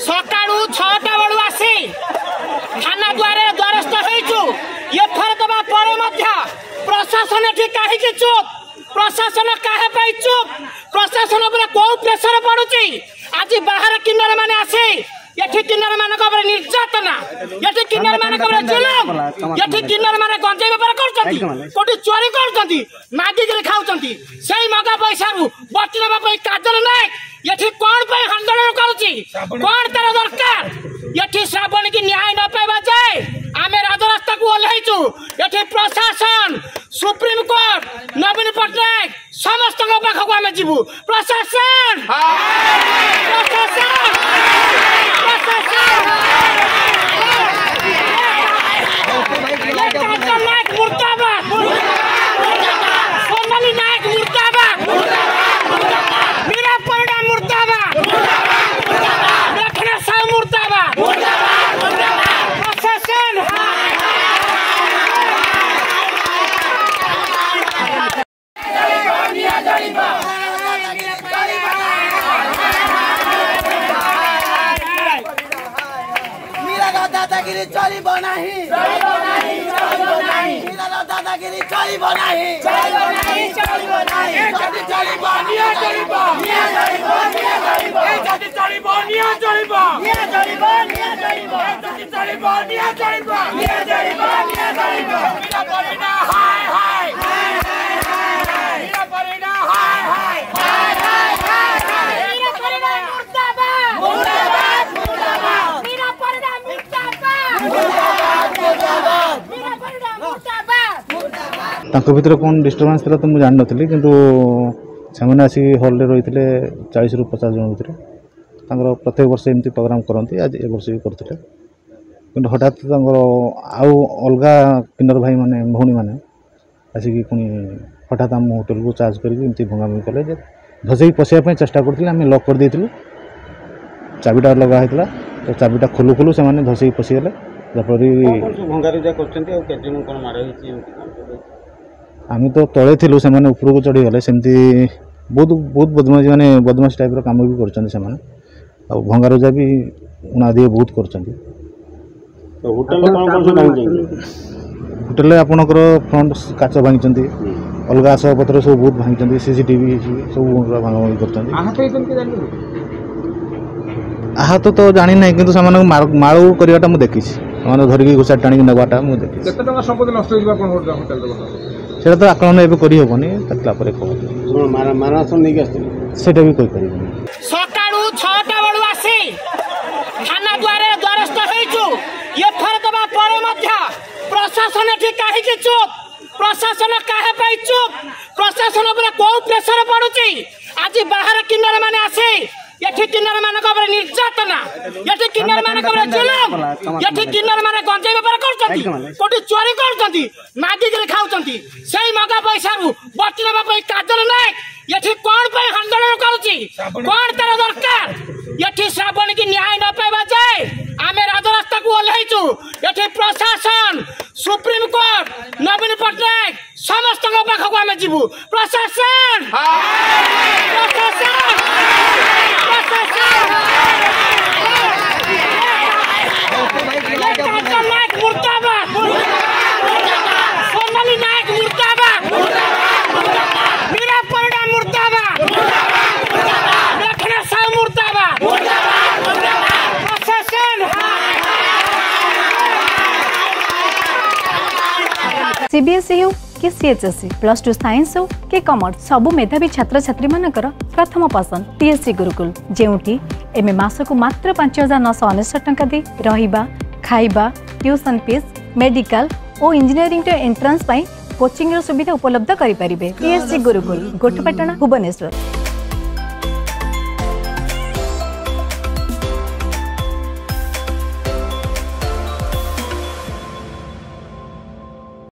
ସକାଳୁ 6ଟା ବେଳୁ ଆସି ଥାନା ଦ୍ୱାରେ ଦ୍ୱାରସ୍ଥ ହେଇଛୁ। ଏଫଆଇଆର ଦେବା ପରେ ମଧ୍ୟ ପ୍ରଶାସନ ଏଠି କାହିଁକି ଚୁପ୍? ପ୍ରଶାସନ କାହା ପାଇଁ ଚୁପ୍? ପ୍ରଶାସନ ଉପରେ କୋଉ ପ୍ରେସର ପଡୁଛି? ଆଜି ବାହାର କିନ୍ନର ମାନେ ଆସି ଏଠି କିନ୍ନର ମାନଙ୍କ ଉପରେ ନିର୍ଯାତନା, ଏଠି କିନ୍ନର ମାନଙ୍କ ଉପରେ ଜୁଲୁମ, ଏଠି କିନ୍ନର ମାନେ ଗଞ୍ଜେଇ ବେପାର କରୁଛନ୍ତି, କୋଉଠି ଚୋରି କରୁଛନ୍ତି, ମାଗିକିରି ଖାଉଛନ୍ତି। ସେଇ ମଗା ପଇସାରୁ ବଟି ନେବା ପାଇଁ କାଜଲ ନାୟକ ଏଠି କଣ ପାଇଁ ଆନ୍ଦୋଳନ କରୁଛି? କଣ ତାର ଦରକାର? ଏଠି ଶ୍ରାବଣୀକି ନ୍ୟାୟ ନ ପାଇବା ଯାଏ ଆମେ ରାଜରାସ୍ତାକୁ ଓହ୍ଲେଇଛୁ। ଏଠି ପ୍ରଶାସନ, ସୁପ୍ରିମକୋର୍ଟ, ନବୀନ ପଟ୍ଟନାୟକ ସମସ୍ତଙ୍କ ପାଖକୁ ଆମେ ଯିବୁ। ପ୍ରଶାସନ, ପ୍ରଶାସନ, ପ୍ରଶାସନ। କାଜଲ ନାୟକ ମୁର୍ଦାବାଦ, ସୋନାଲି ନାୟକ ମୁର୍ଦାବାଦ, ମୀରା ପରିଡ଼ା ମୁର୍ଦାବାଦ, ଲକ୍ଷ୍ମଣ ସାହୁ ମୁର୍ଦାବାଦ। ପ୍ରଶାସନ। ମୀରାର ଦାଦାଗିରି ଚଳିବ ନାହିଁ, ମୀରାର ଦାଦାଗିରି ଚଳିବ ନାହିଁ, ଯଦି ଚଳିବ ନିଆଁ ଜଳିବ, ନିଆଁ ଜଳିବ, ନିଆଁ ଜଳିବ, ଯଦି ଚଳିବ ନିଆଁ ଜଳିବ, ନିଆଁ ଜଳିବ, ନିଆଁ ଜଳିବ, ଯଦି ଚଳିବ ନିଆଁ ଜଳିବ, ନିଆଁ ଜଳିବ, ନିଆଁ ଜଳିବ। ମୀରା ପରିଡ଼ା ହାୟ ହାୟ, ମୀରା ପରିଡ଼ା ହାୟ ହାୟ, ମୀରା ପରିଡ଼ା ମୁର୍ଦାବାଦ, ମୁର୍ଦାବାଦ, ମୁର୍ଦାବାଦ, ମୀରା ପରିଡ଼ା ମୁର୍ଦାବାଦ, ମୁର୍ଦାବାଦ, ମୀରା ପରିଡ଼ା ମୁର୍ଦାବାଦ। ତାଙ୍କ ଭିତରେ କ'ଣ ଡିଷ୍ଟର୍ବାନ୍ସ ଥିଲା ତ ମୁଁ ଜାଣିନଥିଲି, କିନ୍ତୁ ସେମାନେ ଆସିକି ହଲ୍ରେ ରହିଥିଲେ 40ରୁ 50 ଜଣ ଭିତରେ। ତାଙ୍କର ପ୍ରତ୍ୟେକ ବର୍ଷ ଏମିତି ପ୍ରୋଗ୍ରାମ୍ କରନ୍ତି, ଆଜି ଏ ବର୍ଷ ବି କରୁଥିଲେ। କିନ୍ତୁ ହଠାତ୍ ତାଙ୍କର ଆଉ ଅଲଗା କିନ୍ନର ଭାଇମାନେ ଭଉଣୀମାନେ ଆସିକି ପୁଣି ହଠାତ୍ ଆମ ହୋଟେଲକୁ ଚାର୍ଜ କରିକି ଏମିତି ଭଙ୍ଗାଭଙ୍ଗି କଲେ ଯେ ଧସେଇକି ପଶିବା ପାଇଁ ଚେଷ୍ଟା କରୁଥିଲେ। ଆମେ ଲକ୍ କରିଦେଇଥିଲୁ, ଚାବିଟା ଲଗା ହେଇଥିଲା, ତ ଚାବିଟା ଖୋଲୁ ଖୋଲୁ ସେମାନେ ଧସେଇକି ପଶିଗଲେ। ଯାହାଫଳରେ ଭଙ୍ଗାରୁଜା କରୁଛନ୍ତି। ଆଉ କେତେ ଜଣ କ'ଣ ମାଡ଼ ହେଇଛି ଏମିତି କ'ଣ ସବୁ ହେଇଛି? ଆମେ ତ ତଳେ ଥିଲୁ, ସେମାନେ ଉପରକୁ ଚଢ଼ିଗଲେ। ସେମିତି ବହୁତ ବହୁତ ବଦମାସି, ମାନେ ବଦମାସି ଟାଇପ୍ର କାମ ବି କରୁଛନ୍ତି ସେମାନେ, ଆଉ ଭଙ୍ଗାରୁଜା ବି ଉଣାଧିକ ବହୁତ କରୁଛନ୍ତି। ତ ହୋଟେଲରେ କ'ଣ କ'ଣ ସବୁ ଭାଙ୍ଗିଛନ୍ତି? ହୋଟେଲରେ ଆପଣଙ୍କର ଫ୍ରଣ୍ଟ କାଚ ଭାଙ୍ଗିଛନ୍ତି, ଅଲଗା ଆସବାବପତ୍ର ସବୁ ବହୁତ ଭାଙ୍ଗିଛନ୍ତି, ସିସିଟିଭି ସବୁ ଭାଙ୍ଗାଭାଙ୍ଗି କରୁଛନ୍ତି। ଆହତ ହେଇଛନ୍ତି କି ଜାଣିଛନ୍ତି? ଆହତ ତ ଜାଣିନାହିଁ, କିନ୍ତୁ ସେମାନଙ୍କୁ ମାଡ଼ କରିବାଟା ମୁଁ ଦେଖିଛି। ସେମାନେ ଧରିକି ଘୋଷାରି ଟାଣିକି ନେବାଟା ମୁଁ ଦେଖିଛି। କେତେ ଟଙ୍କା ସମ୍ପତ୍ତି ନଷ୍ଟ ହେଇଯିବ ଆପଣଙ୍କ ହୋଟେଲରେ ବର୍ତ୍ତମାନ? ସେଇଟା ତ ଆକଳନ ଏବେ କରିହେବନି, କାଟିଲା ପରେ କୁହାଯିବ। ମାରଣାସ୍ତ୍ର ନେଇକି ଆସିଥିଲେ ସେଇଟା ବି କହିପାରିବିନି। ସକାଳୁ 6ଟା ବେଳୁ ଆସି ଥାନା ଦ୍ୱାରେ ଦ୍ୱାରସ୍ଥ ହେଇଛୁ। ଏଫଆଇଆର ଦେବା ପରେ ମଧ୍ୟ ପ୍ରଶାସନ ଏଠି କାହିଁକି ଚୁପ୍? ପ୍ରଶାସନ କାହା ପାଇଁ ଚୁପ୍? ପ୍ରଶାସନ ଉପରେ କୋଉ ପ୍ରେସର ପଡୁଛି? ଆଜି ବାହାର କିନ୍ନର ମାନେ ଆସି ଏଠି କିନ୍ନର ମାନଙ୍କ ଉପରେ ନିର୍ଯାତନା, ଏଠି କିନ୍ନର ମାନଙ୍କ ଉପରେ ଜୁଲୁମ, ଏଠି କିନ୍ନର ମାନେ ଗଞ୍ଜେଇ ବେପାର କରୁଛନ୍ତି, କୋଉଠି ଚୋରି କରୁଛନ୍ତି, ମାଗିକିରି ଖାଉଛନ୍ତି। ସେଇ ମଗା ପଇସାରୁ ବଟି ନେବା ପାଇଁ କାଜଲ ନାୟକ ଏଠି କଣ ପାଇଁ ଆନ୍ଦୋଳନ କରୁଛି? କଣ ତାର ଦରକାର? ଏଠି ଶ୍ରାବଣୀକି ନ୍ୟାୟ ନ ପାଇବା ଯାଏ ଆମେ ରାଜରାସ୍ତାକୁ ଓହ୍ଲେଇଛୁ। ଏଠି ପ୍ରଶାସନ, ସୁପ୍ରିମକୋର୍ଟ, ନବୀନ ପଟ୍ଟନାୟକ ସମସ୍ତଙ୍କ ପାଖକୁ ଆମେ ଯିବୁ। ପ୍ରଶାସନ, ପ୍ରଶାସନ, ପ୍ରଶାସନ। କାଜଲ ନାୟକ ମୁର୍ଦାବାଦ, ସୋନାଲି ନାୟକ ମୁର୍ଦାବାଦ, ମୀରା ପରିଡ଼ା ମୁର୍ଦାବାଦ, ଲକ୍ଷ୍ମଣ ସାହୁ ମୁର୍ଦାବାଦ। ପ୍ରଶାସନ। सीबीएसई ହେଉ କି सीएचएसई, प्लस टू साइंस ହେଉ କି कॉमर्स, ସବୁ ମେଧାବୀ ଛାତ୍ରଛାତ୍ରୀମାନଙ୍କର ପ୍ରଥମ ପସନ୍ଦ टीएससी ଗୁରୁକୁଲ, ଯେଉଁଠି ଏବେ ମାସକୁ ମାତ୍ର 5999 ଟଙ୍କା ଦେଇ ରହିବା, ଖାଇବା, ट्यूशन फीस, मेडिकल ଓ ଇଞ୍ଜିନିୟରିଂର ଏଣ୍ଟ୍ରାନ୍ସ ପାଇଁ କୋଚିଂର ସୁବିଧା ଉପଲବ୍ଧ କରିପାରିବେ। ଟିଏସସି ଗୁରୁକୁଲ, ଗୋଠପାଟଣା, ଭୁବନେଶ୍ୱର।